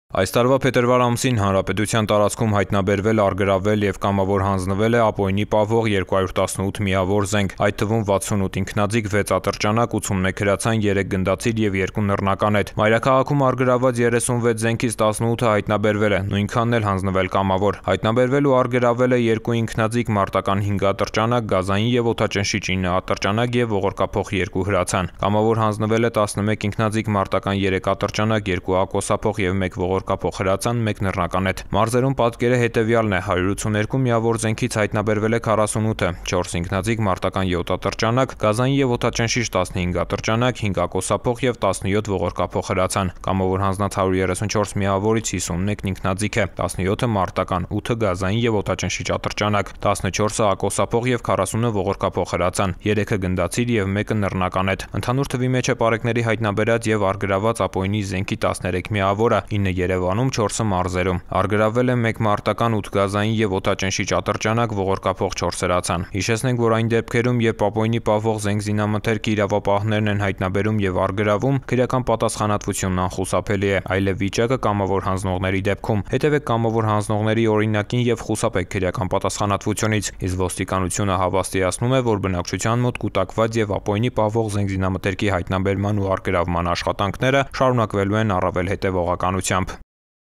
Այս տարվա փետրվար ամսին հանրապետության տարածքում հայտնաբերվել, առգրավվել և կամավոր հանձնվել է Ապօյնի պահվող 218 միավոր զենք, այդ թվում 68 ինքնաձիգ, 6 ատրճանակ, 81 հրացան, 3 գնդացիր և 2 նռնականետ։ Մայրաքաղաքում առգրավված 36 զենքից 18-ը հայտնաբերվել է, նույնքանն էլ հանձնվել կամավոր։ Հայտնաբերվել ու առգրավվել է 2 ինքնաձիգ մարտական 5 ատրճանակ, գազային և օդաճնշիչ 9 ատրճանակ և ողորկափող 2 հրացան։ Կամավոր հանձնվել է 11 ինքնաձիգ մարտական 3 ատրճանակ, 2 ակոսափող և 1 ողորկափող հրացան, 1 նռնականետ։ Մարզերում պատկերը հետևյալն է՝ 182 միավոր զենքից հայտնաբերվել է 48-ը, 4 ինքնաձիգ մարտական 7 ատրճանակ, գազային և օդաճնշիչ 15 ատրճանակ, 5 ակոսափող և 17 ողորկափող հրացան։ Կամավոր հանձնած 134 միավորից 51 ինքնաձիգ է, 17-ը մարտական, 8-ը գազային և օդաճնշիչ ատրճանակ, 14-ը ակոսափող և 40-ը ողորկափող հրացան, 3-ը գնդացիր և 1-ը նռնականետ։ Ընդհանուր թվի մեջ է պարեկների հայտնաբերած և առգրավված Ապօյնի զենքի 13 միավորը, 9 Երևանում, 4-ը մարզերում։ Առգրավվել է 1 մարտական, 8 գազային և օդաճնշիչ ատրճանակ, ողորկափող 4 հրացան։ Հիշեցնենք, որ այն դեպքերում, երբ Ապօյնի պահվող զենք զինամթերքի իրավապահներն են հայտնաբերում և առգրավում, քրեական պատասխանատվությունն անխուսափելի է, այլև վիճակը կամավոր հանձնողների դեպքում։ Հետևեք կամավոր հանձնողների օրինակին և խուսափեք քրեական պատասխանատվությունից, իսկ ոստիկանությունը հավաստիացնում է, որ բնակչության մոտ կուտակված և Ապօյնի պահվող զենք զինամթերքի հայտնաբերման ու առգրավման աշխատանքները շարունակվելու են առավել հետևողականությամբ։